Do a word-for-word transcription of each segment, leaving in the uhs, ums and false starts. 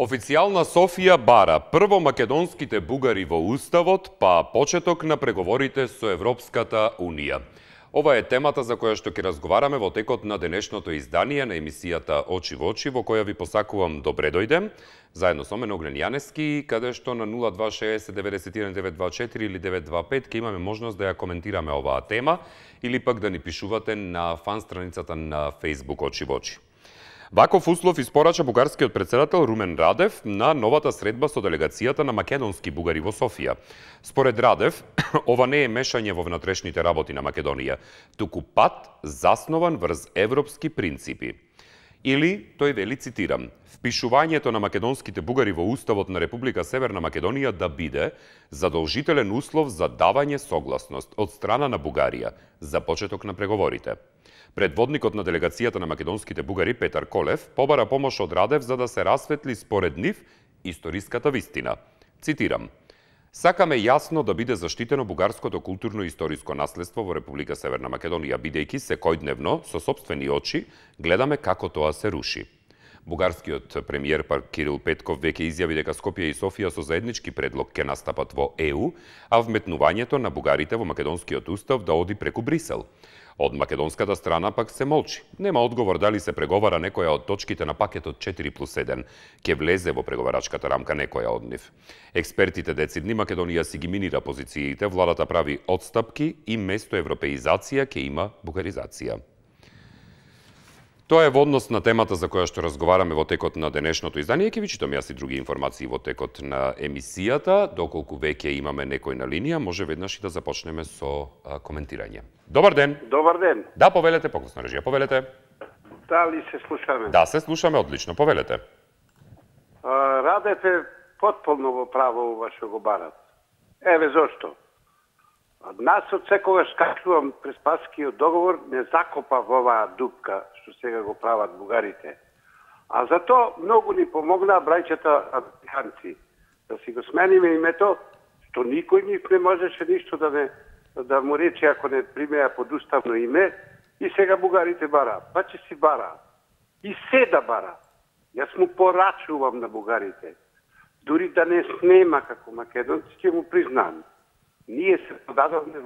Официјална Софија бара прво македонските бугари во Уставот, па почеток на преговорите со Европската Унија. Ова е темата за која што ќе разговараме во текот на денешното издание на емисијата Очи во очи, во која ви посакувам добре дојдем, заедно со мен Огнен Јанески, каде што на нула два шеесет деветдесет и еден деветстотини дваесет и четири или деветстотини дваесет и пет ќе имаме можност да ја коментираме оваа тема или пак да ни пишувате на фан страницата на Facebook Очи во очи. Ваков услов испорача бугарскиот председател Румен Радев на новата средба со делегацијата на македонски бугари во Софија. Според Радев, ова не е мешање во внатрешните работи на Македонија, туку пат заснован врз европски принципи. Или, тој вели, цитирам, впишувањето на македонските бугари во Уставот на Република Северна Македонија да биде задолжителен услов за давање согласност од страна на Бугарија за почеток на преговорите. Предводникот на делегацијата на македонските бугари Петар Колев побара помош од Радев за да се расветли според нив историската вистина. Цитирам: "Сакаме јасно да биде заштитено бугарското културно и историско наследство во Република Северна Македонија, бидејќи секојдневно со сопствени очи гледаме како тоа се руши." Бугарскиот премиер Кирил Петков веќе изјави дека Скопје и Софија со заеднички предлог ќе настапат во Е У, а вметнувањето на бугарите во македонскиот устав да оди преку Брисел. Од македонската страна пак се молчи. Нема одговор дали се преговара некоја од точките на пакетот четири плюс еден, ќе влезе во преговарачката рамка некоја од нив. Експертите децидни Македонија си ги минира позициите, владата прави отстапки и место европеизација ќе има бугаризација. Тоа е во однос на темата за која што разговараме во текот на денешното издание. Ќе ви читам јас и други информации во текот на емисијата. Доколку веќе имаме некој на линија, може веднаш и да започнеме со а, коментирање. Добар ден. Добар ден. Да, повелете, погласно режија, повелете. Дали се слушаме? Да, се слушаме одлично, повелете. А, Радев е потполно во право ова што го барат. Еве зошто. Нас од секогаш кажувам Преспаскиот договор не закопа во оваа дупка што сега го прават бугарите. А зато многу ни помогнаа брајчата американци. Да си го смениме името, што никој нив не можеше ништо да не да му рече ако не примеа под уставно име, и сега бугарите бара. Па ќе си бара. И се да бара. Јас му порачувам на бугарите. Дури да не снема како македонци, ќе му признам. Ние се подадовме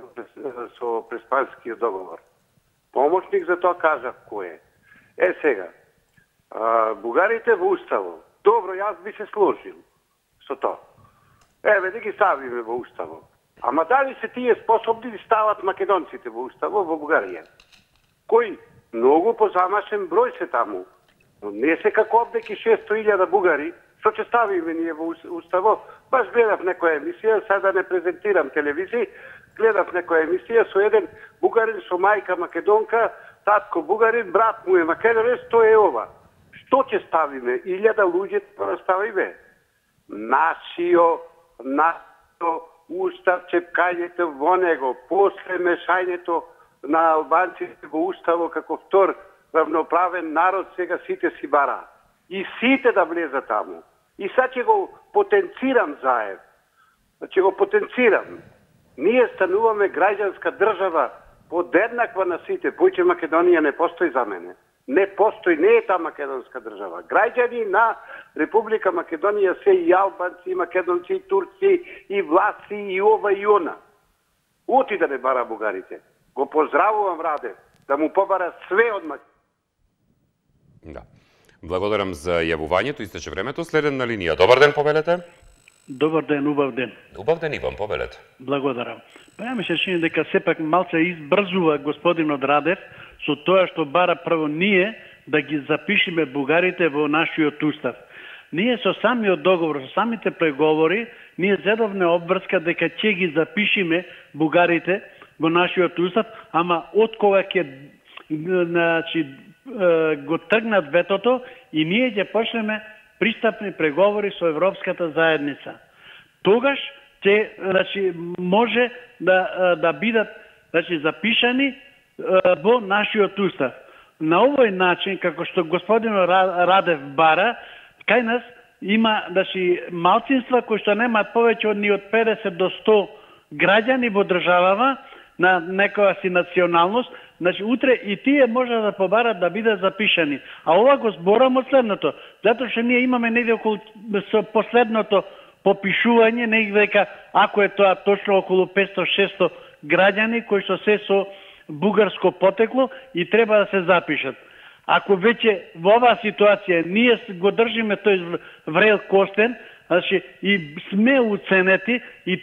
со Преспанскиот договор. Помошник за тоа кажа кој е. Е сега, а, бугарите во уставот. Добро, јас би се сложил со тоа. Еве, да ги ставиме во уставот. Ама дали се тие способни да стават македонците во уставот во Бугарија? Кој? Многу позамашен број се таму. Но не се како обдеки шесто илјада бугари, што ќе ставиме ние во уставот. Баш гледав некоја емисија, сега не презентирам телевизија, гледав некоја емисија со еден бугарин со мајка македонка, татко бугарин, брат му е македонец, тоа е ова. Што ќе ставиме? Илјада луѓе да ставиме. Нашио, нашио устав, чепкањето во него, после мешањето на албанците во уставо како втор равноправен народ, сега сите си бара. И сите да влезат таму. И сега ќе го потенцирам заев. Ќе го потенцирам. Ние стануваме граѓанска држава подеднаква на сите. Појќе Македонија не постои за мене. Не постои, не е та македонска држава. Граѓани на Република Македонија се и албанци, и македонци, и турци, и власти, и ова и она. Оти да не бара бугарите. Го поздравувам Радев, да му побара све од Македонија. Да. Благодарам за јавувањето, истече времето. Следен на линија. Добар ден, повелете. Добар ден, убав ден. Убав ден, Иван, повелете. Благодарам. Па ја ми се чини дека сепак малце избрзува господинот Радев со тоа што бара прво ние да ги запишеме бугарите во нашиот устав. Ние со самиот договор, со самите преговори, ние зедовме обврска дека ќе ги запишеме бугарите во нашиот устав, ама од кога ќе значи го тргнат ветото и ние ќе почнеме пристапни преговори со Европската заедница. Тогаш ќе значи може да да бидат значи запишани во нашиот устав. На овој начин, како што господин Радев бара, кај нас има значи малцинства кои што немаат повеќе од ни од педесет до сто граѓани во државава на некоја си националност, значи утре и тие може да побарат да бидат запишани. А ова го зборам од следното, затоа што ние имаме негде околу со последното попишување, негде дека ако е тоа точно околу петсто шесто граѓани кои што се со бугарско потекло и треба да се запишат. Ако веќе во оваа ситуација ние го држиме тој врел костен, значи и сме уценети и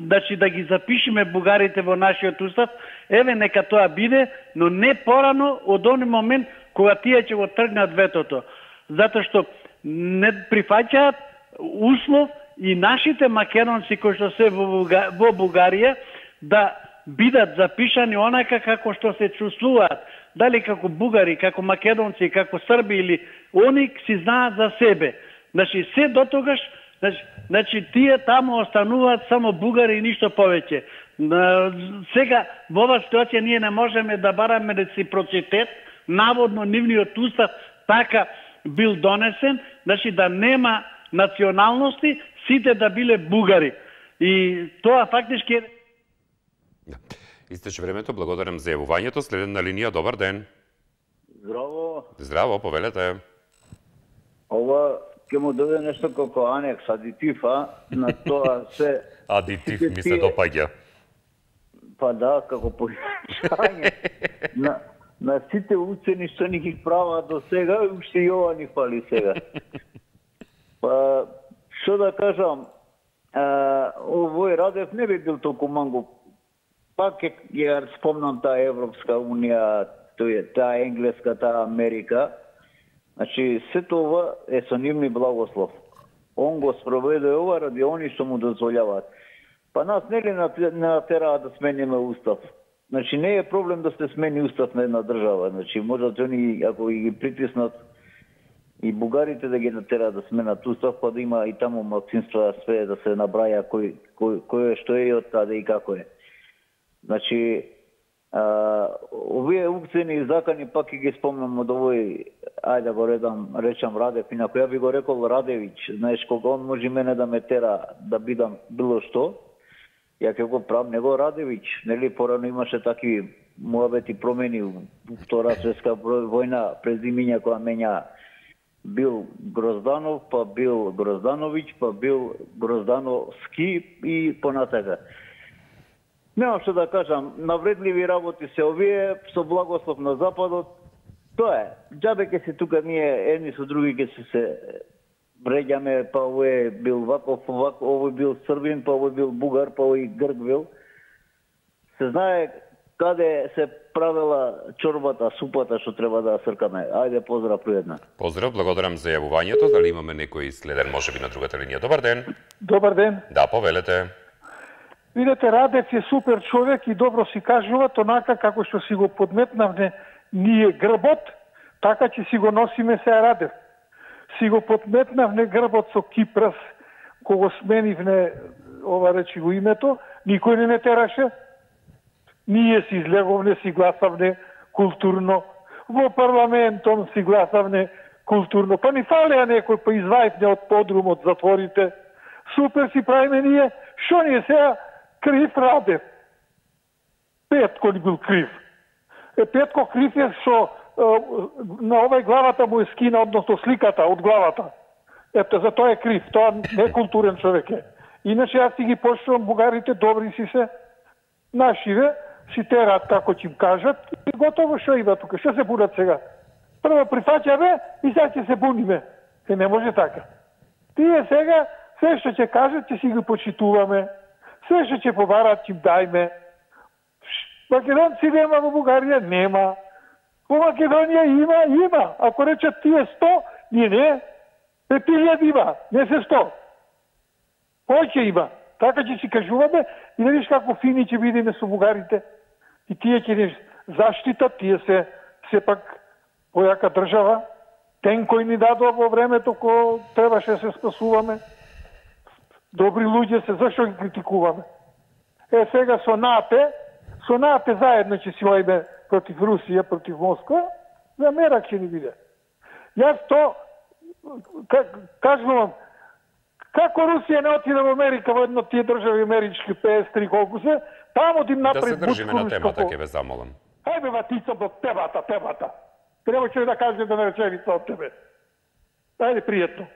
значи да ги запишеме бугарите во нашиот устав, еве нека тоа биде, но не порано од оној момент кога тие ќе го тргнат ветото, затоа што не прифаќаат услов и нашите македонци кои што се во, Буга... во Бугарија да бидат запишани онака како што се чувствуваат, дали како бугари, како македонци, како срби или они си знаат за себе. Значи се дотогаш, значи, значи тие таму остануваат само бугари и ништо повеќе. Сега во оваа ситуација ние не можеме да бараме реципроцитет, наводно нивниот устав така бил донесен, значи да нема националности, сите да биле бугари. И тоа фактички е... Истече времето, благодарам за јавувањето. Следен на линија, добар ден. Здраво. Здраво, повелете. Ова ќе му дојде нешто како анекс, адитив, а? На тоа се... Адитив ми се допаѓа. Па да, како појашање. на, на сите учени што ни ги прават до сега, уште и ова ни фали сега. Па, што да кажам, а, овој Радев не би бил толку мангу. Пак е, ја спомнам таа Европска унија, таа Енглеска, таа Америка. Значи, сето ова е со нивни благослов. Он го спроведе ова ради они што му дозволяваат. Па нас нели натераат да смениме устав. Значи, не е проблем да се смени устав на една држава. Значи, можат они, ако ги притиснат и бугарите да ги натераат да сменат устав, па да има и таму малцинства све да се набраја кој, кој, кој е што е од таде и како е. Значи, а, овие укцени закани пак и ги спомнам од овој, ајде да го редам, речам Радев, инако ја би го рекол Радевич, знаеш, кога он може мене да ме тера да бидам било што, ја ќе го правам него Радевич, нели, порано имаше таки муабети промени у Втора светска војна, презимиња која менја бил Грозданов, па бил Грозданович, па бил Гроздановски и понатака. Немам што да кажам, навредливи работи се овие, со благослов на Западот. Тоа е, џабе ке се тука ние едни со други ке се се бреѓаме, па овој бил ваков, овој бил Србин, па овој бил Бугар, па овој Грк бил. Се знае каде се правела чорбата, супата што треба да сркаме. Ајде, поздрав пријатно. Поздрав, благодарам за јавувањето. Дали имаме некој следен, можеби на другата линија? Добар ден. Добар ден. Да, повелете. Видете, Радев е супер човек и добро си кажува, онака како што си го подметнавне ние грбот, така ќе си го носиме се Радев. Си го подметнавне грбот со Кипрас, кога сменивне, ова речи го името, никој не не тераше. Ние си излеговне, си гласавне културно, во парламентом си гласавне културно, па ни фалеа некој, па извајавне од подрум, од затворите. Супер си правиме ние, шо ни е сега крив Радев. Петко ли бил крив? Е, Петко крив е што на овај главата му е скина, односно сликата од главата. Ето, за тоа е крив, тоа не е културен човек е. Иначе јас си ги почнувам, бугарите добри си се, нашиве, си терат како ќе им кажат и готово што има тука. Што се будат сега? Прво прифаќаме и сега ќе се буниме. Е, не може така. Тие сега, се што ќе кажат, ќе си ги почитуваме. Се што ќе побарат, ќе им дајме. Македонци нема во Бугарија? Нема. Во Македонија има? Има. Ако речат тие сто, ние не. Пет илјади има, не се сто. Кој ќе има? Така ќе си кажуваме и да видиш како фини ќе бидеме со бугарите. И тие ќе ни заштитат, тие се сепак појака држава. Тенкој ни дадоа во времето кога требаше да се спасуваме. Добри луѓе се, зашто ги критикуваме? Е, сега со НАТО, со НАТО заедно ќе си ојме против Русија, против Москва, за мерак ќе ни биде. Јас то кажувам, како Русија не отиде во Америка во едно тие држави амерички петдесет и три колку се, таму да им направи да се држиме на темата, ќе ве замолам. Хајде ватица до темата, темата. Треба ќе да кажем да не реченица од тебе. Ајде, пријатно.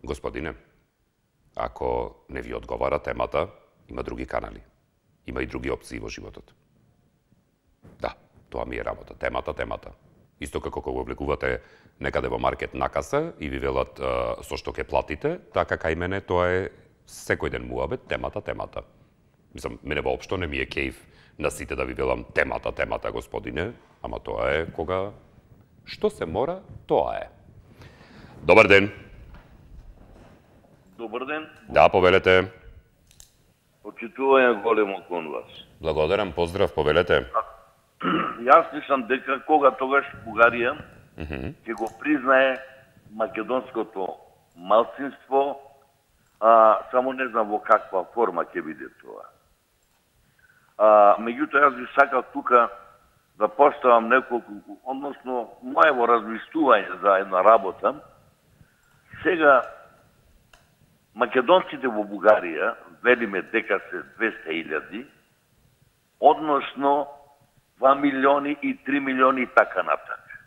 Господине, ако не ви одговара темата, има други канали. Има и други опции во животот. Да, тоа ми е работа. Темата, темата. Исто како кога облегувате некаде во маркет на каса и ви велат а, со што ќе платите, така кај мене тоа е секој ден муабет, темата, темата. Мислам, мене воопшто не ми е кејф на сите да ви велам темата, темата, господине, ама тоа е кога што се мора, тоа е. Добар ден. Добар ден. Да, повелете. Почитување големо кон вас. Благодарам, поздрав, повелете. Јас мислам дека кога тогаш Бугарија Mm -hmm. ќе го признае македонското малцинство, а, само не знам во каква форма ќе биде тоа. А, меѓутоа, јас би сакал тука да поставам неколку, односно, моево размислување за една работа. Сега, македонците во Бугарија, велиме дека се двесте илјади, односно два милиони и три милиони и така натака.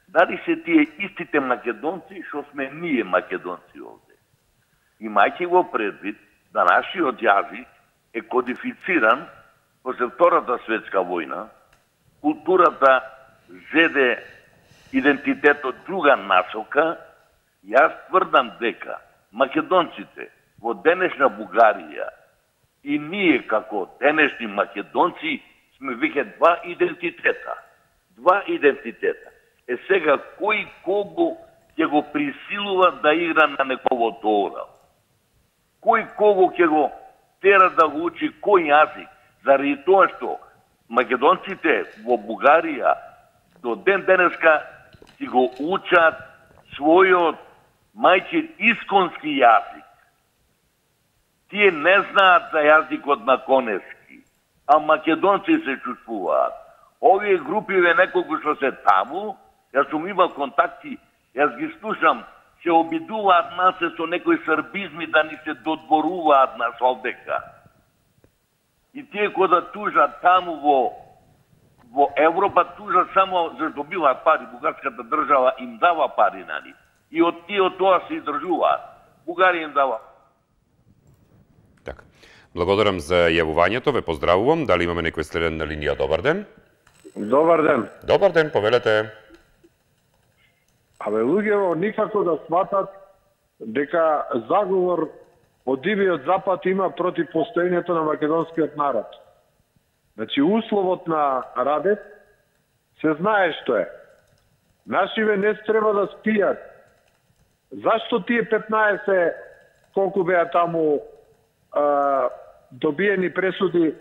Дали се тие истите македонци што сме ние македонци овде? Имајќи го предвид да нашиот јазик е кодифициран после Втората светска војна, културата зеде идентитетот друга насока, јас тврдам дека македонците во денешна Бугарија и ние како денешни македонци сме веќе два идентитета. Два идентитета. Е сега, кој кого ќе го присилува да игра на неговото орал? Кој кого ќе го тера да го учи кој јазик? Заради тоа што македонците во Бугарија до ден денеска си го учат својот мајчин исконски јазик. Тие не знаат за јазикот на Коневски, а македонци се чувствуваат. Овие групи ве неколку што се таму, јас сум имал контакти, јас ги слушам, се обидуваат нас со некои србизми да ни се додворуваат нас овдека. И тие кои да тужат таму во во Европа, тужат само за добиваат пари, бугарската држава им дава пари на нив. И од тие од тоа се издржуваат. Бугарија им дава. Така. Благодарам за јавувањето, ве поздравувам. Дали имаме некој следен на линија? Добар ден. Добар ден. Добар ден, повелете. Абе, луѓето никако да сватат дека заговор од дивиот запад има против постоењето на македонскиот народ. Значи, условот на Радев се знае што е. Нашиве не треба да спијат. Зашто тие петнаесет, колку беа таму а, добиени пресуди,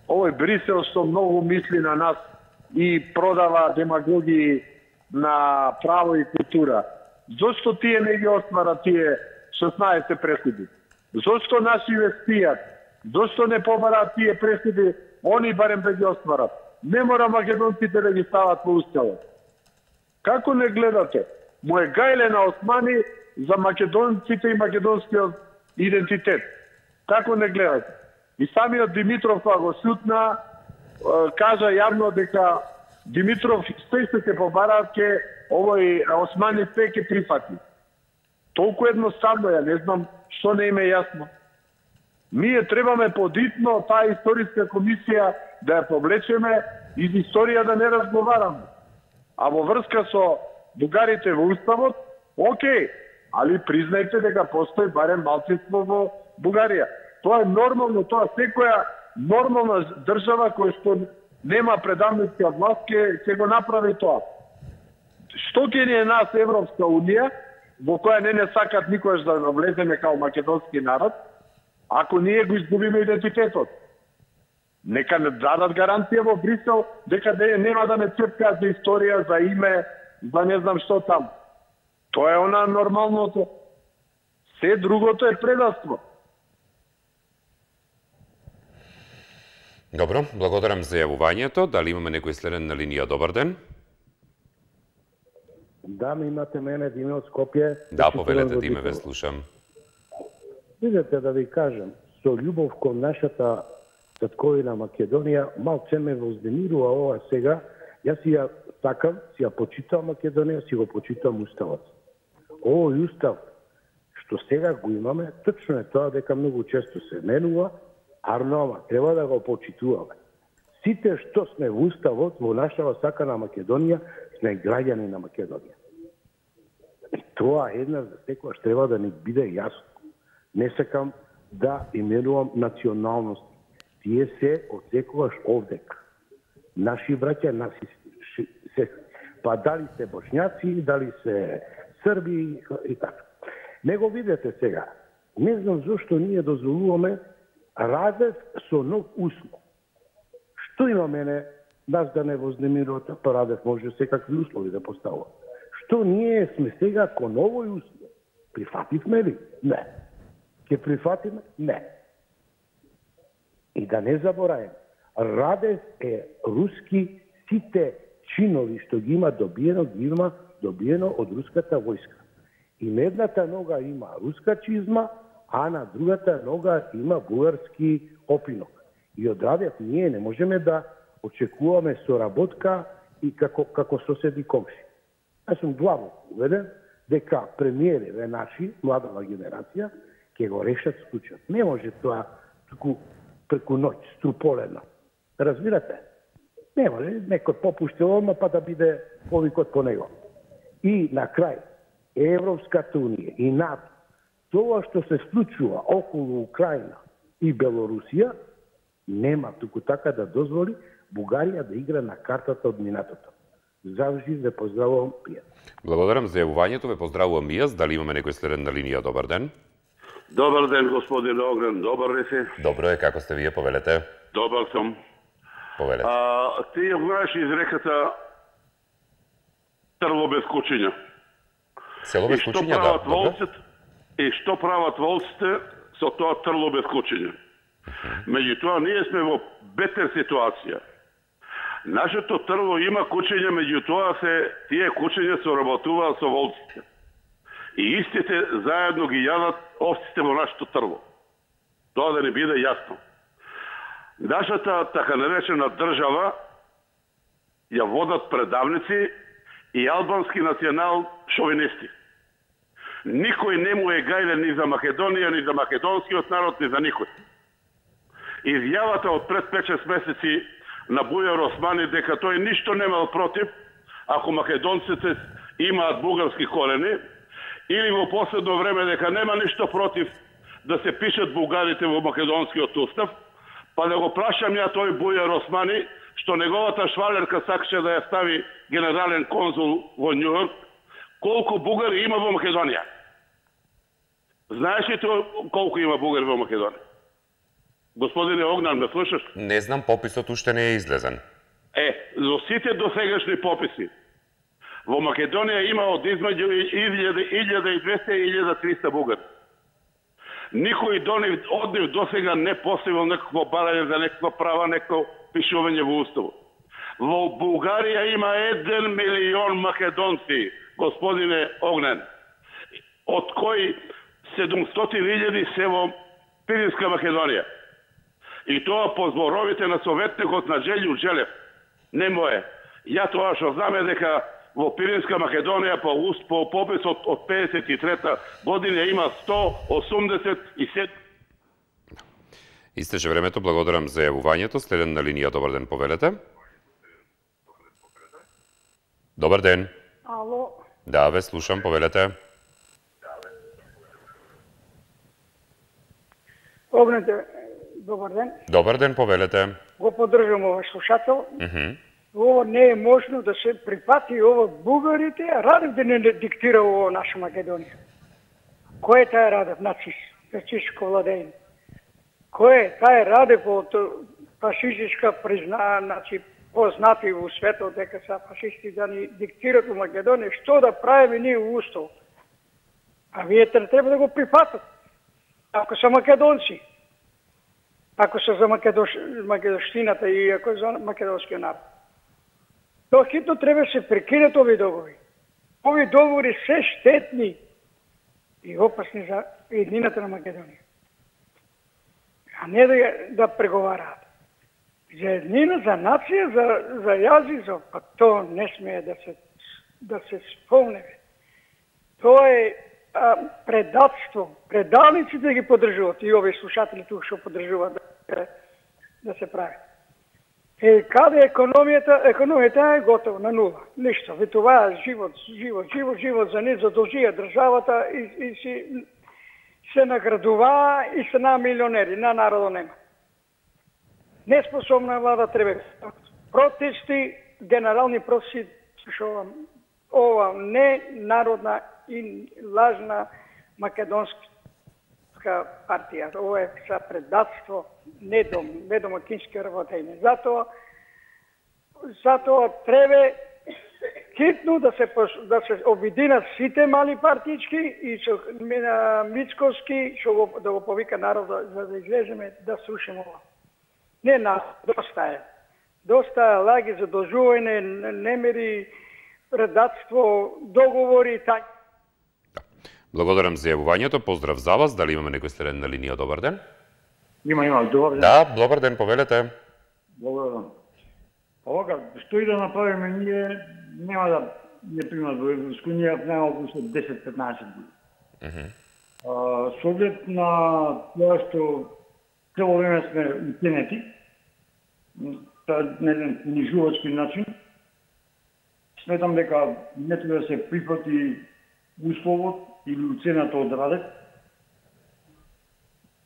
овој Брисел што многу мисли на нас и продава демагогии на право и култура. Зошто тие не ги осмара тие шеснаесет пресуди? Зошто нашиве спијат? Зошто не побараат тие пресуди, они барем да ги осмарат? Не мора македонците да ги стават во уставот. Како не гледате? Му е гајле на Османи за македонците и македонскиот идентитет. Како не гледате? И самиот Димитров кога го сутна, кажа јавно дека Димитров се што ќе побараат ке овој Османи се ќе прифати. Толку едноставно, ја не знам што не им е јасно. Ние требаме подитно таа историска комисија да ја повлечеме и за историја да не разговараме. А во врска со бугарите во уставот, окей, али признајте дека постои барем малцинство во Бугарија. Тоа е нормално, тоа секоја нормална држава која што нема предавницка власт ќе ќе го направи тоа. Што ќе ни е нас Европска унија, во која не не сакат никогаш да влеземе као македонски народ, ако ние го изгубиме идентитетот? Нека не дадат гаранција во Брисел дека нема да не цепкаат за историја, за име, за не знам што там. Тоа е она нормалното. Се другото е предавство. Добро, благодарам за јавувањето. Дали имаме некој следен на линија? Добар ден. Да, ми имате мене, Диме од Скопје. Да, повелете, Диме, ве слушам. Видете, да ви кажем, со љубов кон нашата татковина Македонија, малце ме вознемирува ова сега. Јас си ја сакам, си ја почитам Македонија, си го почитам уставот. Овој устав, што сега го имаме, точно е тоа дека многу често се менува, арно, треба да го почитуваме. Сите што сме во уставот, во нашава сакана Македонија, сме граѓани на Македонија. И тоа еднаш за секојаш треба да ни биде јасно. Не сакам да именувам националности. Тие се од секојаш овдека. Наши браќа, наши се, па дали се бошњаци, дали се срби и така. Него видете сега, не знам зашто ние дозволуваме Радев со нов услов. Што има мене нас да не вознемирувате, па Радев може секакви услови да поставува. Што ние сме сега кон овој услов? Прифативме ли? Не. Ке прифатиме? Не. И да не забораваме, Радев е руски, сите чинови што ги има добиено, ги има добиено од руската војска. И на едната нога има руска чизма, а на другата нога има бугарски опинок. И од Радев ние не можеме да очекуваме соработка и како, како соседи комши. Јас сум длабоко уведен дека премиереве наши, младава генерација, ќе го решат случајот. Не може тоа туку преку ноќ, струполено. Разбирате? Не може некој попуштил одма па да биде повикот по него. И на крај, Европската унија и НАТО, тоа што се случува околу Украина и Белорусија, нема туку така да дозволи Бугарија да игра на картата од минатото. Завжди ве поздравувам, пија. Благодарам за јавувањето, ве поздравувам и јас. Дали имаме некој следен на линија? Добар ден. Добар ден, господин Огнен, добар ли си? Добро е, како сте вие, повелете? Добар сум. Повелете. А, ти ја знаеш изреката трво без кучиња. Село без кучиња, да. Волците, и што прават волците со тоа трво без кучиња? Меѓутоа, ние сме во бетер ситуација. Нашето трво има кучиња, меѓутоа се тие кучиња се работуваат со волците. И истите заедно ги јадат овците во нашето трво. Тоа да не биде јасно. Нашата така наречена држава ја водат предавници и албански национал шовинисти. Никој не му е гајлен ни за Македонија, ни за македонскиот народ, ни за никој. Изјавата од пред пет-шест месеци на Бујар Османи дека тој ништо немал против ако македонците имаат бугарски корени, или во последно време дека нема ништо против да се пишат бугарите во македонскиот устав, па да го прашам ја тој Бујар Османи, што неговата швалерка сакаше да ја стави генерален конзул во Њујорк, колку бугари има во Македонија? Знаеш ли тоа колку има бугари во Македонија? Господине Огнан, ме слушаш? Не знам, пописот уште не е излезен. Е, за сите досегашни пописи, во Македонија има од измеѓу илјада и двесте и илјада и триста бугари. Никој до нив, од нив досега не поставил некакво барање за некаква права, некакво пишување во уставот. Во Бугарија има еден милион македонци, господине Огнен, од кои седумстотини илјади се во Пиринска Македонија. И тоа по зборовите на советникот на Джелју Джелев. Не мое. Ја тоа што знаме дека во Пиринска Македонија по, по пописот од педесет и трета година има сто осумдесет и седум. Истече времето, благодарам за јавувањето. Следен на линија, добар ден, повелете. Добар ден. Ало. Да, ве слушам, повелете. Огнете, добар ден. Добар ден, повелете. Го поддржам овој слушател. Uh -huh. Ово не е можно да се припати ова бугарите, а Радев да не диктира ово наша Македонија. Кој е тај Радев? Нацист, фашистско владење. Кој е тај Радев од фашистичка призна, значи познати во светот дека се фашисти да ни диктират во Македонија, што да правиме ние во устав? А вие треба да го прифатат. Ако се македонци. ако се за Македош... македонштината и ако е за македонскиот народ. Тоа хитно треба се прекинат овие договори. Овие договори се штетни и опасни за еднината на Македонија. А не да, да преговараат. За еднина, за нација, за, за јазик, за... па тоа не смее да се, да се спомне. Тоа е а, предатство. Предалниците да ги поддржуват и овие слушатели тук што поддржуваат да, да се прави. Е, каде економијата? Економијата е готова, на нула. Ништо. Ви това е живот, живот, живот, живот за не задолжија државата и, и си се наградува и се на милионери, на народо нема. Неспособна влада треба. Протести, генерални протести, слушувам, ова не народна и лажна македонска партија. Ова е за предатство, недом, недомакински работење. Затоа, затоа треба хитно да се да се обединат сите мали партички и со Мицковски што го да го повика народот за да излеземе да срушиме ова. Не на доста е. Доста е лаги задолжување, немери, предатство, договори и така. Благодарам за јавувањето. Поздрав за вас. Дали имаме некој следен на линија? Добар ден. Има, има. Добар ден. Да, добар ден, повелете. Благодарам. Овака, што и да направиме ние, нема да не примат во Европска унија, нема околу десет-петнаесет години. Uh -huh. а, со оглед на тоа што цело време сме утенети, на еден понижувачки начин, сметам дека не треба да се прифати условот или уцената од Радев,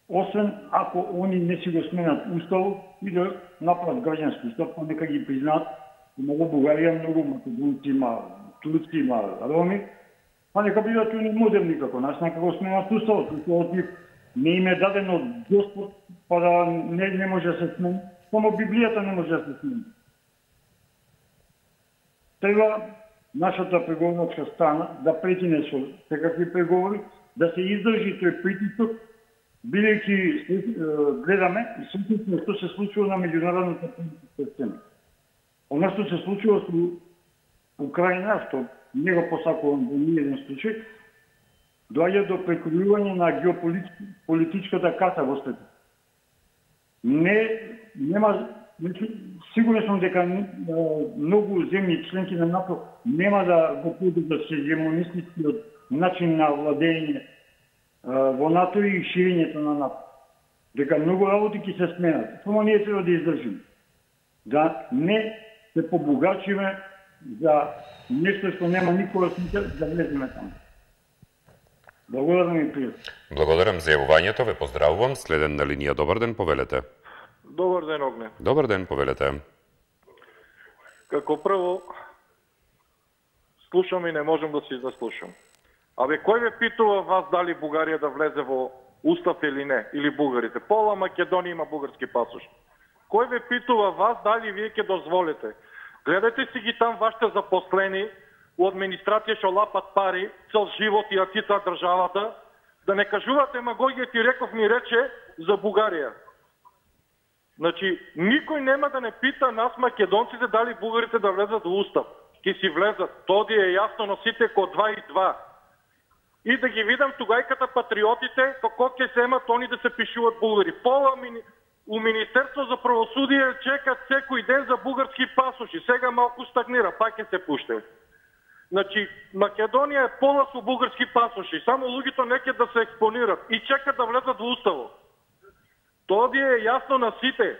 освен ако они не си го сменат уставот и да направат граѓански устав, па нека ги признаат. Има во Бугарија многу македонци, има турци, има роми, па нека бидат они модерни како нас, нека го сменат уставот. Уставот не им е даден од Господ, па да не, не може да се смени. Само Библијата не може да се смени. Треба нашата преговорачка страна да прекине со секакви преговори, да се издржи тој притисок, бидејќи гледаме и сетивме што се случува на меѓународната политичка сцена. Она што се случува со Украина, што не го посакувам во ниеден случај, доаѓа до прекројување на геополитичката карта во светот. Не, нема, сигурен сум дека многу земји членки на НАТО нема да го поддржат хегемонистичкиот начин на владење во НАТО и ширењето на НАТО. Дека многу работи ќе се сменат. Само ние треба да издржиме. Да не се побогачиме за нешто што нема никога смисла да влеземе таму. Благодарам и пријатно. Благодарам за јавувањето, ве поздравувам. Следен на линија, добар ден, повелете. Добар ден, Огне. Добар ден, повелете. Како прво, слушам и не можам да си заслушам. Абе, кој ве питува вас дали Бугарија да влезе во устав или не, или бугарите? Пола Македонија има бугарски пасош. Кој ве питува вас дали вие ќе дозволите? Гледате си ги там вашите запослени у администрација што лапат пари, цел живот и ја цитаат државата, да не кажувате магогија ти реков ни рече за Бугарија. Значи, никој нема да не пита нас македонците дали бугарите да влезат во устав. Ке си влезат, тоа е јасно, носите ко два и два. И да ги видам тугајката патриотите, како ќе земат они да се пишуваат бугари. Пола мини... у Министерство за правосудие чекат секој ден за бугарски пасоши. Сега малку стагнира, пак ќе се пуште. Значи, Македонија е пола со бугарски пасоши. Само луѓето неќе да се експонират и чекат да влезат во уставот. Тоа е јасно на сите.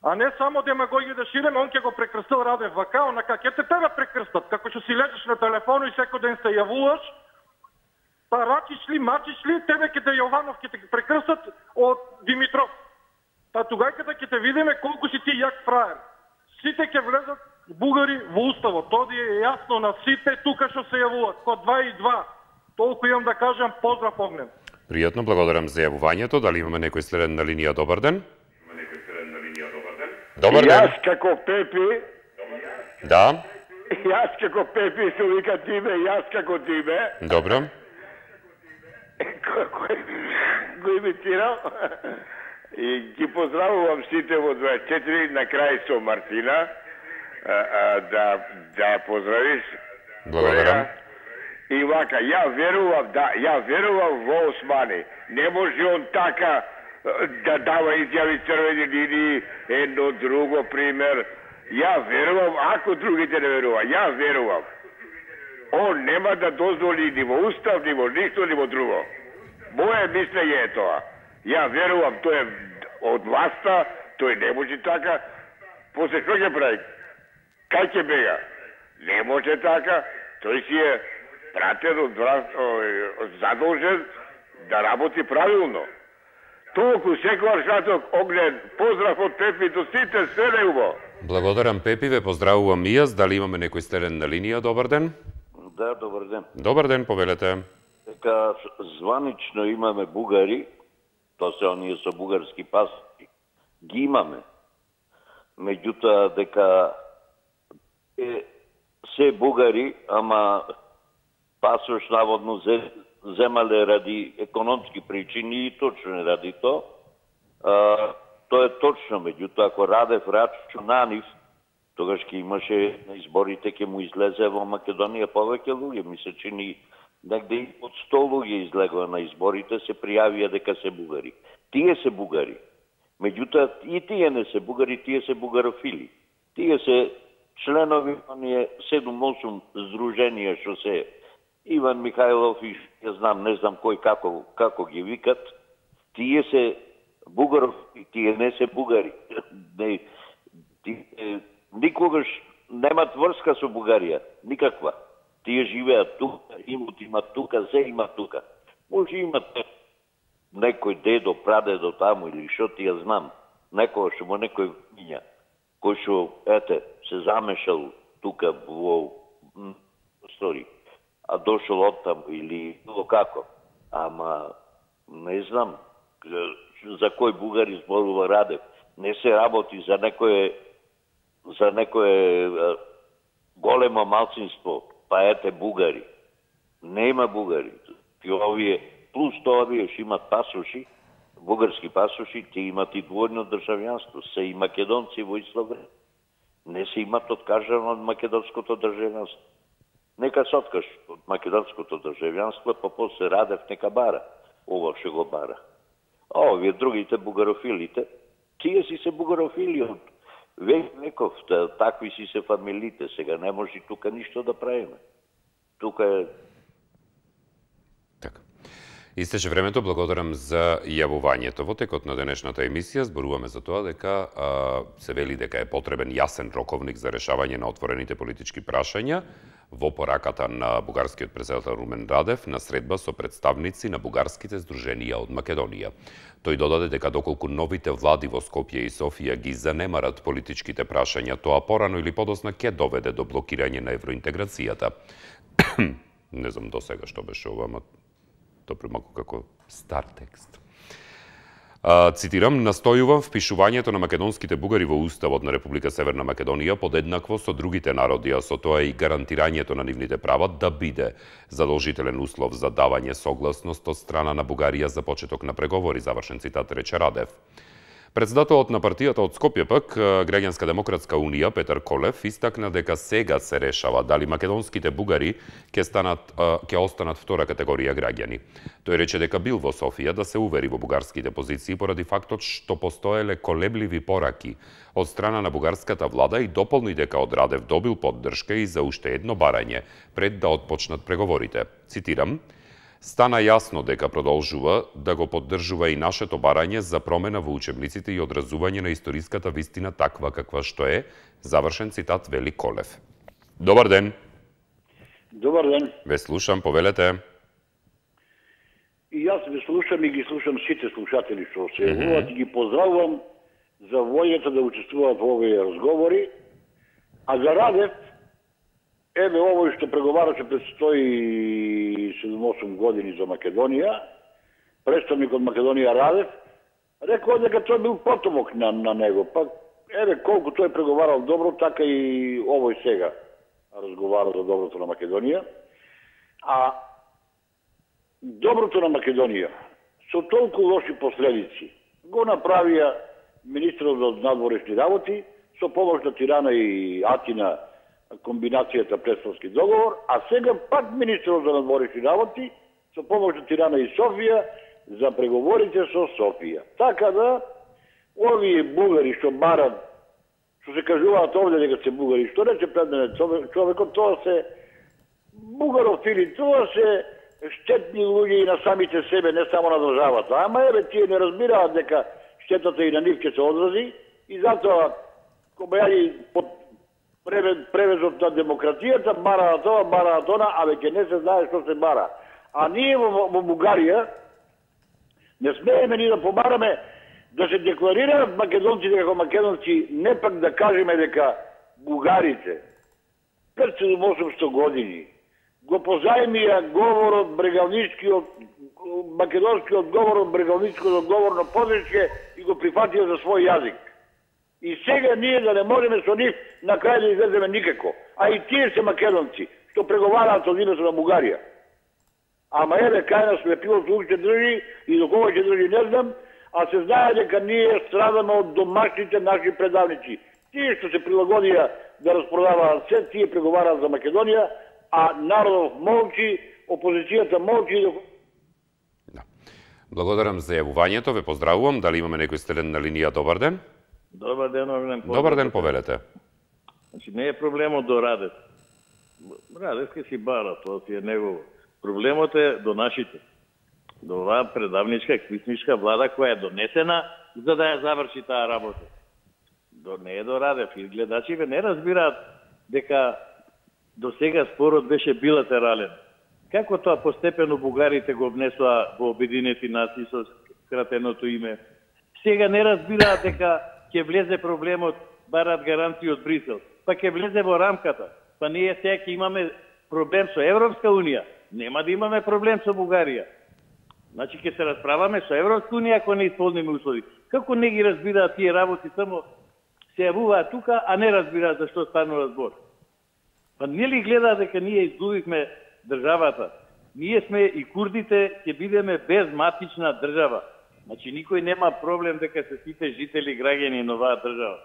А не само демагогија да ширеме, он ќе го прекрстил Радев вака, онака ќе те тебе прекрстат, како што си лежиш на телефону и секој ден се јавуваш, па рачиш ли, мачиш ли, тебе ќе те Јованов ќе те прекрстат од Димитров. Па тугајката ќе те видиме колку си ти јак фраер. Сите ќе влезат бугари во уставот. Тоа е јасно на сите тука што се јавуваат, ко два и два. Толку имам да кажам, поздрав, Огнен. Пријатно, благодарам за јавувањето. Дали имаме некој следен на линија? Добар ден. Има некој следен на линија? Добар ден. Добар ден. Јас како Пепи. Да. Јас како Пепи се вика Тиме, јас како Тиме. Добро. Го имитирам. И ги поздравувам сите во дваесет и четири, на крај со Мартина, а, а, да, да поздравиш. Благодарам. И вака, ја верувам, да, ја верувам во Османи. Не може он така да дава изјави црвени линии, едно друго пример. Ја верувам, ако другите не верува, ја верувам. Он нема да дозволи ни во устав, ни во ништо, ни во друго. Моje мислење е тоа. Ја верувам, тој е од власта, тој не може така. После што ќе прави? Кај ќе бега? Не може така. Тој си е пратен од задолжен да работи правилно. Толку секојаш раток Огнен, поздрав од Пепи до сите, се неубаво. Благодарам, Пепи, ве поздравувам и јас. Дали имаме некој стерен на линија? Добар ден. Да, добар ден. Добар ден, повелете. Дека званично имаме бугари, тоа се оние со бугарски паспорти, ги имаме. Меѓутоа дека е, се бугари, ама пасош наводно земале ради економски причини и точно е ради тоа. А, тоа е точно, меѓутоа ако Радев рачунанив, тогаш ќе имаше на изборите, ќе му излезе во Македонија повеќе луѓе. Ми се чини негде и од сто луѓе излегува на изборите, се пријавија дека се бугари. Тие се бугари. Меѓутоа и тие не се бугари, тие се бугарофили. Тие се членови оние седум-осум здруженија што се Иван Михајлов и ја знам, не знам кој како како ги викат. Тие се бугарофили, тие не се бугари. Не, тие, никогаш немат врска со Бугарија, никаква. Тие живеат тука, имот имат тука, се имат тука. Може имат некој дедо, прадедо таму или што ти ја знам, некој што му некој миња, кој што, ете, се замешал тука во стори, а дошол од таму или било како. Ама, не знам, за кој бугари зборува Радев. Не се работи за некој за некое големо малцинство, па ете бугари. Нема бугари. И овие, плюс тоа овие што имат пасоши, бугарски пасоши, те имат и двојно државјанство, се и македонци во исто време. Не се имат откажано од македонското државјанство. Нека се откаж од македонското државјанство, па после Радев нека бара. Ова што го бара. А овие другите бугарофилите, тие си се бугарофили од век веков, такви си се фамилите, сега не може тука ништо да правиме. Тука е... Така. Истече времето, благодарам за јавувањето. Во текот на денешната емисија зборуваме за тоа дека а, се вели дека е потребен јасен роковник за решавање на отворените политички прашања во пораката на бугарскиот претседател Румен Радев на средба со представници на бугарските здруженија од Македонија. Тој додаде дека доколку новите влади во Скопје и Софија ги занемарат политичките прашања, тоа порано или подосна ќе доведе до блокирање на евроинтеграцијата. Не знам до сега што беше ова, ама тоа примако како стар текст. А, цитирам, настојувам впишувањето на македонските бугари во Уставот на Република Северна Македонија подеднакво со другите народи, а со тоа и гарантирањето на нивните права да биде задолжителен услов за давање согласност од страна на Бугарија за почеток на преговори, завршен цитат, рече Радев. Председателот на партијата од Скопје пак, Граѓанска демократска унија, Петар Колев, истакна дека сега се решава дали македонските бугари ќе станат ќе останат втора категорија граѓани. Тој рече дека бил во Софија да се увери во бугарските позиции поради фактот што постоеле колебливи пораки од страна на бугарската влада и дополни дека од Радев добил поддршка и за уште едно барање пред да отпочнат преговорите. Цитирам: стана јасно дека продолжува да го поддржува и нашето барање за промена во учебниците и одразување на историската вистина таква каква што е, завршен цитат, вели Колев. Добар ден. Добар ден. Ве слушам, повелете. И јас ве слушам и ги слушам сите слушатели што се јавуваат, mm -hmm. и ги поздравувам за волјата да учествуваат во овие разговори. А за Радев, еве овој што преговараше пред сто и седум-осум години за Македонија, представник од Македонија Радев, рекол дека тој бил потомок на, на него. Па, еве, колку тој преговарал добро, така и овој сега разговара за доброто на Македонија. А доброто на Македонија, со толку лоши последици, го направија министрот за надворешни работи, со помош на Тирана и Атина комбинацијата Престолски договор, а сега пак министрот за надворешни работи, со помош на Тирана и Софија, за преговорите со Софија. Така да, овие бугари што барат, што се кажуваат овде дека се бугари, што рече пред мене човекот, тоа се бугарофили, тоа се штетни луѓе и на самите себе, не само на државата. Ама еве, тие не разбираат дека штетата и на нив ќе се одрази и затоа кобајаги под превезот на демократијата, бара на тоа, бара на тоа, а веќе не се знае што се бара. А ние во, во Бугарија не смееме ни да побараме да се декларираат македонците како македонци, не пак да кажеме дека бугарите пред седум-осумсто години го позајмија говорот брегалничкиот, македонскиот говорот брегалничкиот говор на Подречке и го прифатија за свој јазик. И сега ние да не можеме со нив на крај да излеземе никако. А и тие се македонци, што преговараат од името на Бугарија. Ама еве кај нас лепилото уште држи и до кога ќе држи не знам, а се знае дека ние страдаме од домашните наши предавници. Тие што се прилагодија да распродаваат се, тие преговараат за Македонија, а народот молчи, опозицијата молчи. Да. Благодарам за јавувањето, ве поздравувам. Дали имаме некој стелен на линија? Добар ден. Добар ден, Огнен. Добар ден, повелете. Значи, не е проблемот до Радев. Радев ке си бара, тоа си е негово. Проблемот е до нашите. До оваа предавничка, квисничка влада која е донесена за да ја заврши таа работа. До, не е до Радев. И гледачите не разбираат дека до сега спорот беше билатерален. Како тоа постепено бугарите го внесоа во Обединети нации со скратеното име? Сега не разбираат дека ќе влезе проблемот, барат гаранции од Брисел. Па ќе влезе во рамката. Па ние сега ќе имаме проблем со Европска унија. Нема да имаме проблем со Бугарија. Значи ќе се расправаме со Европска унија ако не исполниме услови. Како не ги разбираат тие работи, само се јавуваат тука, а не разбираат за што станува збор. Па не ли гледаат дека ние изгубивме државата? Ние сме и курдите ќе бидеме безматична држава. Значи никој нема проблем дека се сите жители граѓани на оваа држава.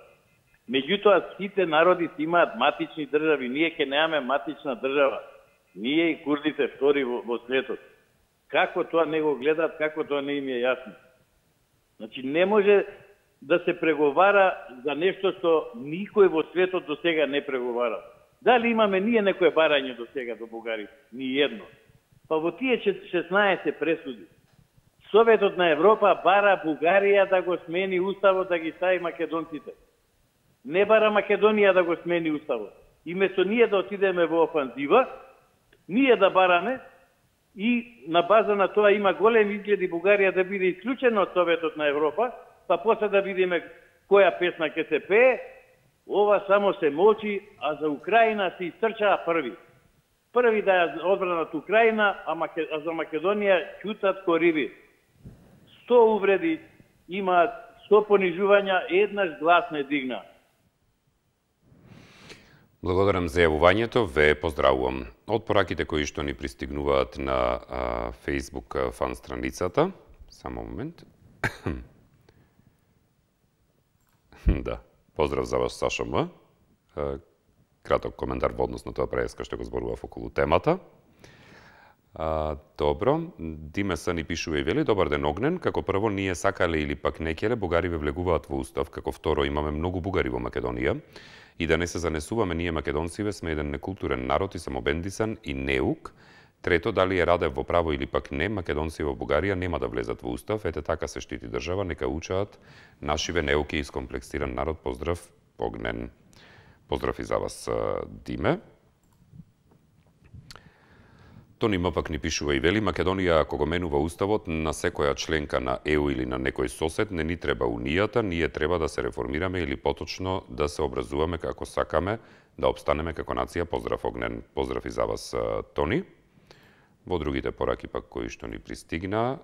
Меѓутоа сите народи си имаат матични држави, ние ќе немаме матична држава. Ние и курдите втори во, во светот. Како тоа не го гледаат, како тоа не им е јасно. Значи не може да се преговара за нешто што никој во светот до сега не преговара. Дали имаме ние некое барање до сега до Бугари? Ни едно. Па во тие шеснаесет пресуди Советот на Европа бара Бугарија да го смени уставот, да ги стави македонците. Не бара Македонија да го смени уставот. И место ние да отидеме во офанзива, ние да бараме и на база на тоа има голем изгледи Бугарија да биде исклучена од Советот на Европа, па после да видиме која песна ќе се пее, ова само се молчи, а за Украина се истрчаа први. Први да ја одбранат Украина, а, Маке... а за Македонија ќутат ко риби. Сто увреди имаат, сто понижувања, еднаш глас не дигна. Благодарам за јавувањето, ве поздравувам. Од пораките кои што ни пристигнуваат на а, Facebook фан страницата, само момент. Да, поздрав за вас, Сашо М. Краток коментар во однос на тоа преска што го зборував околу темата. А, добро, Димеса ни пишува и вели: добар ден, Огнен, како прво ние сакале или пак некеле, бугари ве влегуваат во устав, како второ имаме многу бугари во Македонија и да не се занесуваме ние македонциве сме еден некултурен народ и самобендисан и неук. Трето, дали е Радев во право или пак не, македонци во Бугарија нема да влезат во устав, ете така се штити држава, нека учаат нашиве неуки и искомплексиран народ. Поздрав, Огнен. Поздрав и за вас, Диме. Тони М пак ни пишува и вели: Македонија ако го менува уставот на секоја членка на Е У или на некој сосед, не ни треба унијата, ние треба да се реформираме или поточно да се образуваме како сакаме да обстанеме како нација. Поздрав, Огнен. Поздрав и за вас, Тони. Во другите пораки пак кои што ни пристигна,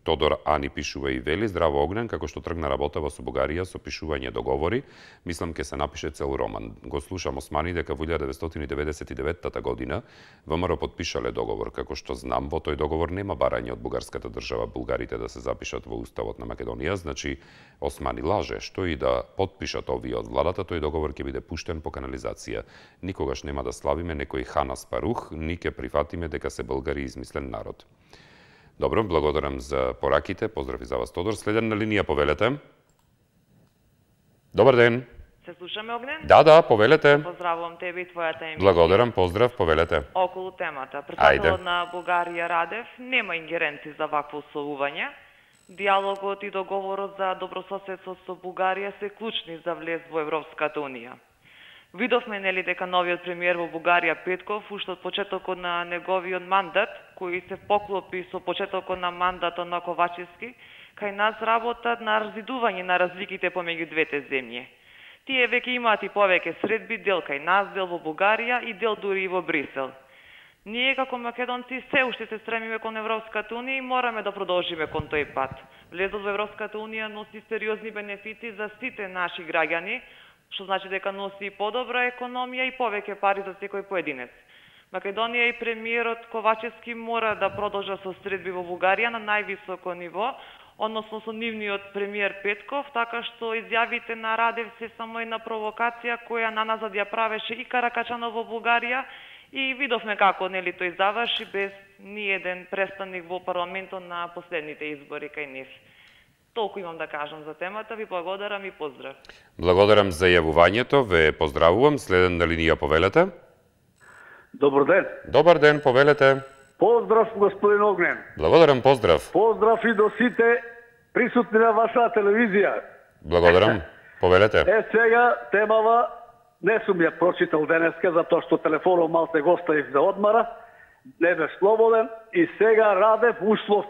Тодор Ани пишува и вели: здраво Огнен, како што тргна работава со Бугарија со пишување договори, мислам ке се напише цел роман. Го слушам Османи дека во илјада деветстотини деветдесет и деветта година ВМРО подпишале договор. Како што знам, во тој договор нема барање од бугарската држава бугарите да се запишат во уставот на Македонија, значи Османи лаже. Што и да подпишат овие од владата, тој договор ќе биде пуштен по канализација. Никогаш нема да славиме некој хан Аспарух, ни ке прифатиме дека се българи измислен народ. Добро, благодарам за пораките. Поздрави за вас, Тодор. Следен на линија, повелете. Добар ден. Се слушаме, Огнен? Да, да, повелете. Поздравувам тебе и твојата емисија. Благодарам, поздрав, повелете. Околу темата. Председателот на Бугарија Радев нема ингеренци за вакво условување. Диалогот и договорот за добрососедство со Бугарија се клучни за влез во Европската Унија. Видовме нели дека новиот премиер во Бугарија Петков уште од почетокот на неговиот мандат, кој се поклопи со почетокот на мандатот на Ковачевски, кај нас работат на разидување на разликите помеѓу двете земји. Тие веќе имаат и повеќе средби, дел кај нас, дел во Бугарија и дел дури и во Брисел. Ние како македонци се уште се стремиме кон Европската Унија и мораме да продолжиме кон тој пат. Влезот во Европската Унија носи сериозни бенефити за сите наши граѓани, што значи дека носи и подобра економија и повеќе пари за секој поединец. Македонија и премиерот Ковачевски мора да продолжат со средби во Бугарија на највисоко ниво, односно со нивниот премиер Петков, така што изјавите на Радев се само една провокација која на нас ја правеше и Каракачанов во Бугарија и видовме како нели тој заврши без ни еден представник во парламентот на последните избори кај нив. Толку имам да кажам за темата, ви благодарам и поздрав. Благодарам за јавувањето, ве поздравувам. Следен на линија, повелете. Добар ден. Добар ден, повелете. Поздрав, господин Огнен. Благодарам, поздрав. Поздрав и до сите присутни на вашата телевизија. Благодарам, повелете. Е, сега темава не сум ја прочитал денеска, затоа што телефонот малце го оставив да одмара, не бе слободен и сега Радев услов.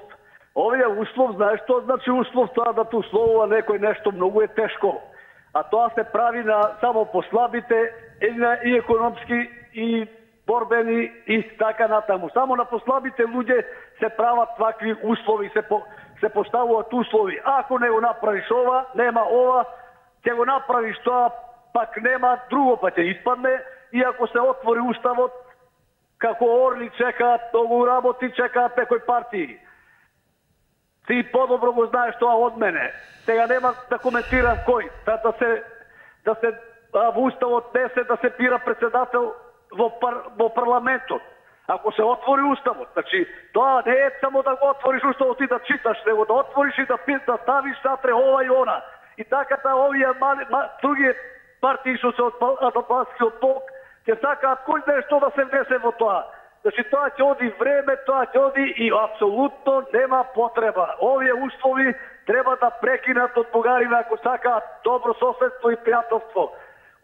Овие услов, знаеш што значи услов? Тоа да те условува некој нешто многу е тешко. А тоа се прави на само послабите и, на, и економски и борбени и така натаму. Само на послабите луѓе се прават такви услови, се, по, се поставуваат услови. Ако не го направиш ова, нема ова, ќе го направиш тоа, пак нема друго, па ќе испадне. И ако се отвори уставот, како орли чекаат, многу работи чекаат некои партии. Ти подобро го знаеш тоа од мене. Сега нема да коментирам кој, да, да се да се а, во уставот не се да се бира председател во, пар, во парламентот. Ако се отвори уставот, значи тоа не е само да го отвориш уставот и да читаш, него да отвориш и да пиш, да ставиш сатре ова и она. И така та овие мали, ма, други партии што се од Албанскиот блок ќе сакаат кој знае што да се внесе во тоа. Значи тоа ќе оди време, тоа ќе оди и апсолутно нема потреба. Овие услови треба да прекинат од бугарина ако сакаат добро соседство и пријателство.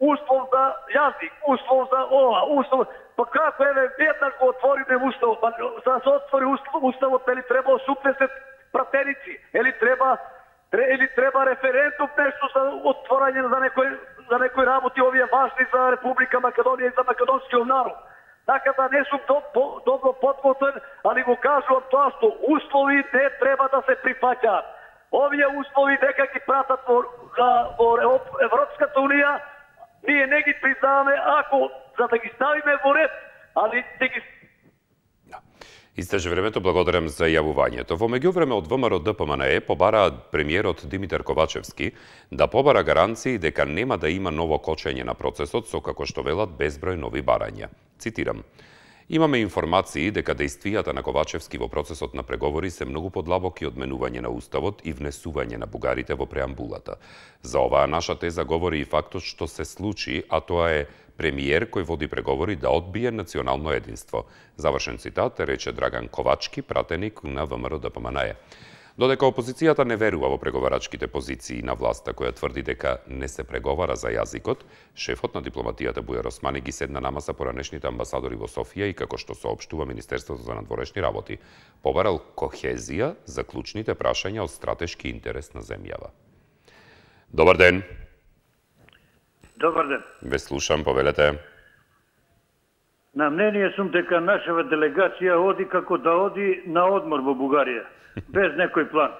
Услов за јазик, услов за ова, услов... Па како еве веднаш го отвориме уставот, па за да се отвори уставот, или треба осумдесет пратеници, или треба или треба референдум нешто за отворање за некој за некои работи овие важни за Република Македонија и за македонскиот народ. Така да не сум до, по, добро подготвен, али го кажувам тоа што услови не треба да се прифаќаат. Овие услови дека ги пратат во, во Европската Унија, ние не ги признаваме ако за да ги ставиме во ред, али да ги... Истече времето, благодарам за јавувањето. Во меѓувреме од ВМРО Д П М Н Е побара премиерот Димитар Ковачевски да побара гаранции дека нема да има ново кочење на процесот со, како што велат, безброј нови барања. Цитирам: имаме информации дека действијата на Ковачевски во процесот на преговори се многу подлабоки од менување на уставот и внесување на бугарите во преамбулата. За оваа наша теза говори и фактот што се случи, а тоа е премиер кој води преговори да одбие национално единство. Завршен цитат, рече Драган Ковачки, пратеник на ВМРО Д П М Н Е. Додека опозицијата не верува во преговарачките позиции на власта која тврди дека не се преговара за јазикот, шефот на дипломатијата Бујар Османи ги седна на маса поранешните амбасадори во Софија и, како што соопштува Министерството за надворешни работи, побарал кохезија за клучните прашања од стратешки интерес на земјава. Добар ден. Добар ден. Ве слушам, повелете. На мнение сум дека нашава делегација оди како да оди на одмор во Бугарија, без некој план.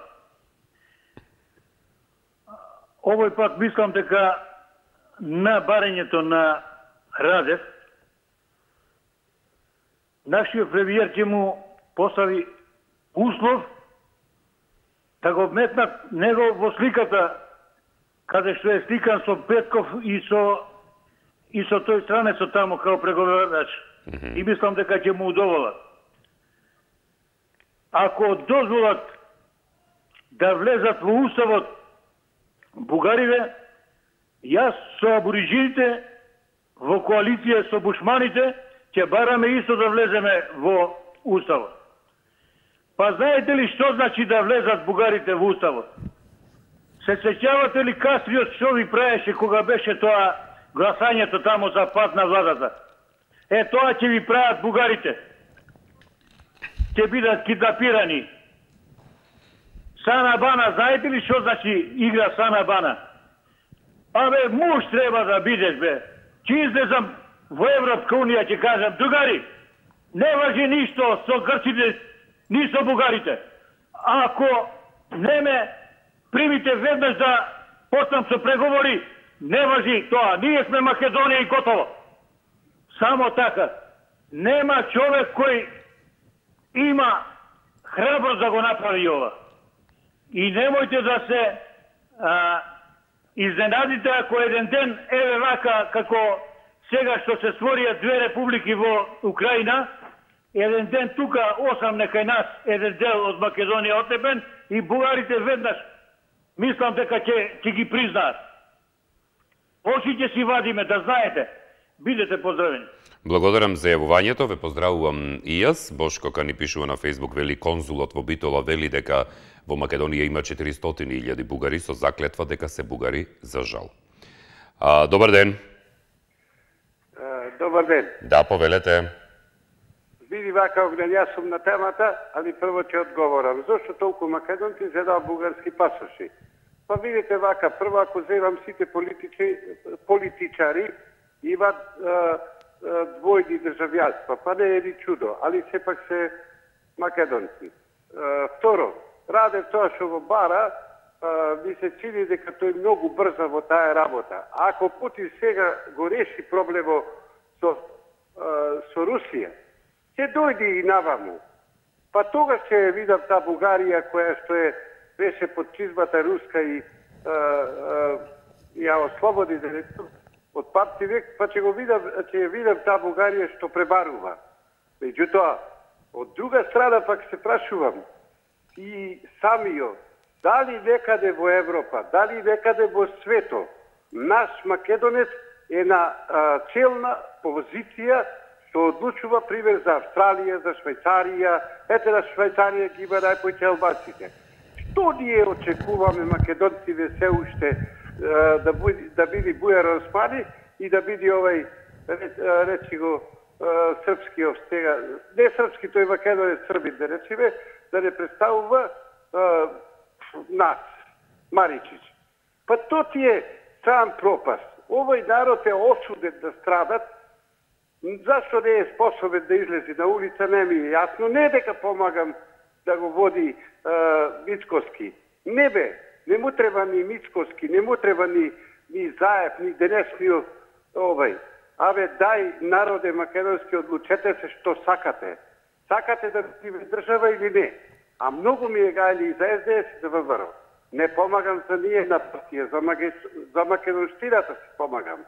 Овој пат мислам дека на барањето на Радев, нашиот премиер ќе му постави услов да го вметнат него во сликата, каде што е сликан со Петков и со и со тој странецот тамо као преговарач. Mm-hmm. И мислам дека ќе му удоволат. Ако дозволат да влезат во уставот бугарите, јас со абориджините во коалиција со бушманите ќе бараме исто да влеземе во уставот. Па знаете ли што значи да влезат бугарите во уставот? Се сеќавате ли Кастриот што ви правеше кога беше тоа гласањето тамо за пат на владата? Е, тоа ќе ви прават бугарите. Ќе бидат киднапирани. Сана Бана, знаете ли што значи игра Сана Бана? Абе, муж треба да бидеш, бе. Ќе излезам во Европска унија, ќе кажам, другари, не важи ништо со грците, ни со бугарите. Ако не ме примите веднаш да почнам со преговори, не важи тоа. Ние сме Македонија и готово. Само така. Нема човек кој има храброст да го направи ова. И немојте да се а, изненадите ако еден ден, еве вака, како сега што се створија две републики во Украина, еден ден тука осам некај нас, еден дел од Македонија отепен и бугарите веднаш, мислам дека ќе ќе ги признаат. Очи ќе си вадиме, да знаете. Бидете поздравени. Благодарам за јавувањето, ве поздравувам и јас. Бошко ка ни пишува на Facebook, вели конзулот во Битола, вели дека во Македонија има четиристотини илјади бугари со заклетва дека се бугари, за жал. А, добар ден. Uh, добар ден. Да, повелете. Види вака, огнен, јас сум на темата, али прво ќе одговорам. Зошто толку македонци зедаа бугарски пасоши? Па видите вака, прво ако земам сите политичи, политичари, имат uh, двојни државјанства, па не е ни чудо, али сепак се македонци. Uh, второ, Радев тоа што го бара, uh, ми се чини дека тој многу брза во таа работа. Ако Путин сега го реши проблемот со, uh, со Русија, ќе дојде и наваму. Па тогаш ќе видам таа Бугарија која што е беше под чизмата руска и uh, uh, ја ослободи да речем од папти век, па ќе го видам, ќе видам таа Бугарија што пребарува. Меѓутоа, од друга страна пак се прашувам и самио, дали некаде во Европа, дали некаде во свето, наш македонец е на а, челна позиција што одлучува пример за Австралија, за Швајцарија, ете на Швајцарија ги има најпојќе албанците. Што ние очекуваме македонците се уште да биде да биде Бујар Османи и да биде овај речи го српски овстега, не српски, тој македонец србин да речеме, да не представува а, нас, Маричич. Па то ти е сам пропаст. Овој народ е осуден да страдат. Зашто не е способен да излези на улица, не ми е јасно. Не дека помагам да го води а, Мицкоски. Не бе, не му треба ни Мицкоски, не му треба ни, ни Заев, ни денешниот овај. Абе, дај, народе македонски, одлучете се што сакате. Сакате да биде држава или не? А многу ми е гајли и за Ес Де Ес и за ВМРО. Не помагам за ние на партија, за, маге... за македонштината си помагам.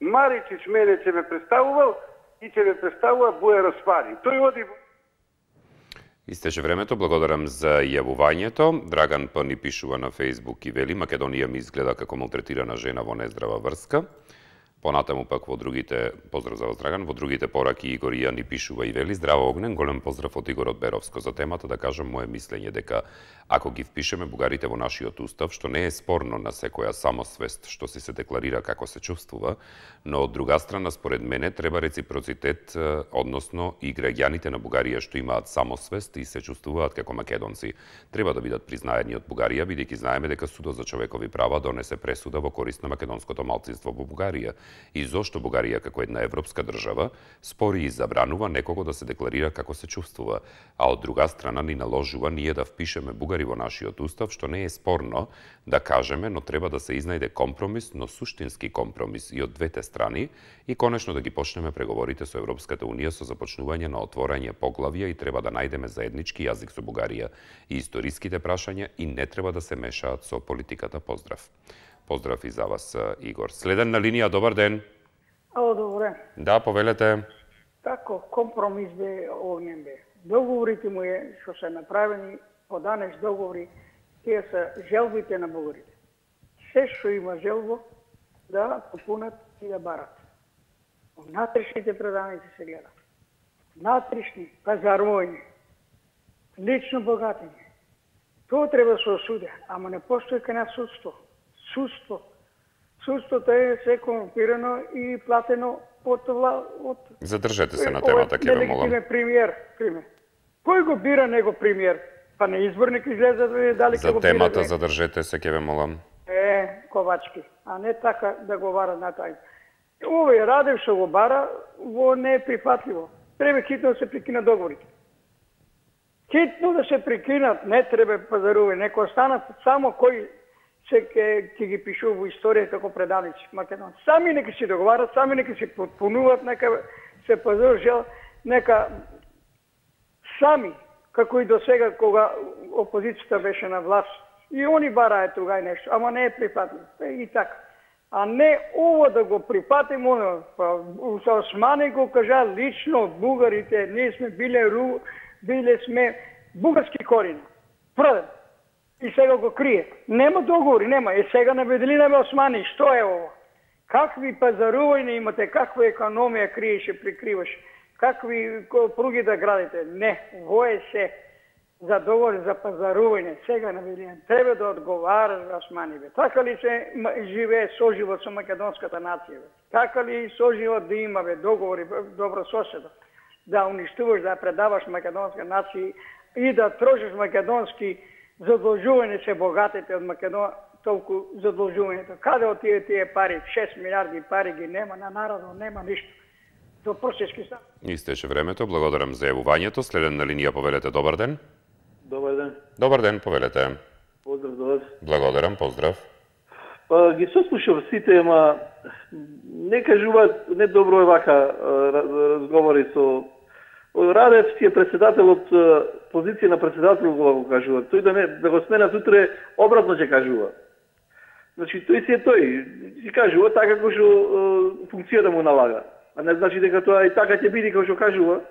Маричич мене ќе ме представувал и ќе ме представува Бујар Османи. Тој оди... Истече времето, благодарам за јавувањето. Драган П ни пишува на Facebook и вели Македонија ми изгледа како малтретирана жена во нездрава врска. Понатаму пак во другите, поздрав за вас Драган, во другите пораки Игор Ја ни пишува и вели здраво Огнен, голем поздрав од Игор од Беровско. За темата да кажам моje мислење дека ако ги впишеме бугарите во нашиот устав, што не е спорно на секоја самосвест што си се декларира како се чувствува, но од друга страна според мене треба реципроцитет, односно и граѓаните на Бугарија што имаат самосвест и се чувствуваат како македонци, треба да бидат признаени од Бугарија, бидејќи знаеме дека Судот за човекови права донесе пресуда во корист на македонското малцинство во Бугарија. и зошто Бугарија како една европска држава спори и забранува некого да се декларира како се чувствува, а од друга страна ни наложува ние да впишеме бугари во нашиот устав, што не е спорно да кажеме, но треба да се изнајде компромис, но суштински компромис и од двете страни, и конечно да ги почнеме преговорите со Европската Унија со започнување на отворање поглавја, и треба да најдеме заеднички јазик со Бугарија и историските прашања, и не треба да се мешаат со политиката. Поздрав. Поздрав и за вас, Игор. Следен на линија, добар ден. Ало, добре. Да, повелете. Тако, компромис бе огнен бе. Договорите му е што се направени, поданеш договори, тие се желбите на бугарите. Се што има желбо, да попунат и да барат. Внатрешните предавници се гледат. Внатрешни, пазарување, лично богатење. Тоа треба да се осуди, ама не постои кај нас судство. Судство. Судството е се корумпирано и платено од од Задржете се на темата, ќе ве молам. Премиер, премиер. Кој го бира него премиер? Па не изборник излезе да види дали ќе го бира. За темата задржете се, ќе ве молам. Е, Ковачки, а не така да го бара на тај. Овој Радев што го бара, во не е прифатливо. Треба хитно да се прекина договорите. Хитно да се прекинат, не треба пазарување, нека останат само кои се ке, ке ги пишува во историја како предавници македонци. Сами нека се договарат, сами нека се потпунуваат, нека се пазаруваат, нека сами, како и до сега кога опозицијата беше на власт, и они бараат тугај нешто, ама не е прифатливо. И така. А не ово да го прифатимо, па Османи го кажа лично бугарите, ние сме биле ру, биле сме бугарски корени. Првен. И сега го крие. Нема договори, нема. Е сега наведели на Османи, што е ово? Какви пазарувања имате, каква економија криеше, прикриваше, какви пруги да градите? Не, во е се за договор за пазарување. Сега наведели. Треба да одговара Османи, бе. Така ли се живее соживот со македонската нација, бе? Така ли соживот да има, бе, договори, добро соседа? Да уништуваш, да предаваш македонска нација и да трошиш македонски задолжување се богатите од Македонија, толку задолжувањето. Каде отие тие пари? шест милиарди пари ги нема на народот, нема ништо. До просечки стан. Истеше времето, благодарам за јавувањето. Следен на линија, повелете, добар ден. Добар ден. Добар ден, повелете. Поздрав до вас. Благодарам, поздрав. Па ги сослушав сите, ама не кажуваат, не добро е вака разговори со Радев си е председател од позиција на председател, кога го кажува. Тој да, не, да го сменат утре, обратно ќе кажува. Значи, тој си е тој. Си кажува така како што функцијата му налага. А не значи дека тоа и така ќе биде како што кажува.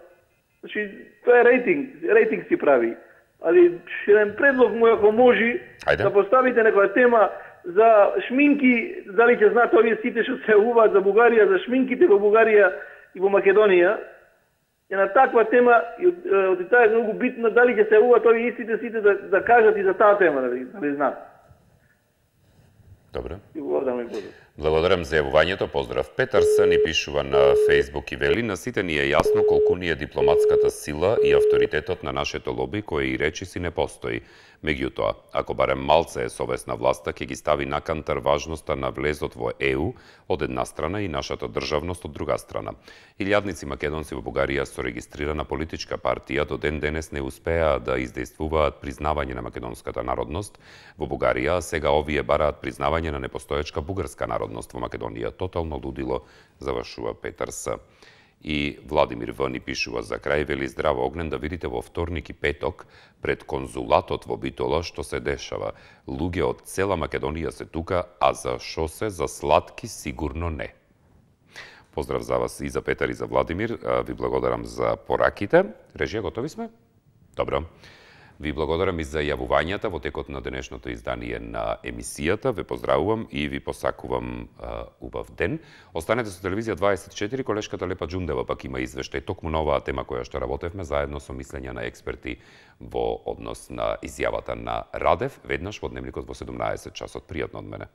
Значи, тоа е рейтинг. Рейтинг си прави. Али, еден предлог му, ако може, да поставите некоја тема за шминки, дали ќе знаат овие сите што се јавуваат за Бугарија, за шминките во Бугарија и во Македонија, е на таква тема, и од таа е многу битно, дали ќе се јавуваат овие истите сите да, да кажат и за таа тема, дали, дали знаат. Добре. И благодарам и поздрав. Благодарам за јавувањето, поздрав. Петарс ни пишува на Фејсбук и вели: на сите ни е јасно колку ни е дипломатската сила и авторитетот на нашето лоби, кој и речиси не постои. Меѓутоа, ако барем малце е совесна власта, ќе ги стави на кантар важноста на влезот во Е У од една страна и нашата државност од друга страна. Илјадници македонци во Бугарија со регистрирана политичка партија до ден денес не успеа да издействуваат признавање на македонската народност во Бугарија, а сега овие бараат признавање на непостоечка бугарска народност во Македонија. Тотално лудило, завршува Петарс. И Владимир В ни пишува за крај, вели: здраво огнен, да видите во вторник и петок пред конзулатот во Битола што се дешава. Луѓе од цела Македонија се тука, а за шо се, за сладки сигурно не. Поздрав за вас и за Петар и за Владимир. Ви благодарам за пораките. Режија, готови сме? Добро. Ви благодарам и за јавувањата во текот на денешното издание на емисијата. Ве поздравувам и ви посакувам а, убав ден. Останете со телевизија дваесет и четири, колешката Лепа Џундева пак има извештај токму на оваа тема која што работевме заедно со мислења на експерти во однос на изјавата на Радев, веднаш во Дневникот во седумнаесет часот. Пријатно од мене.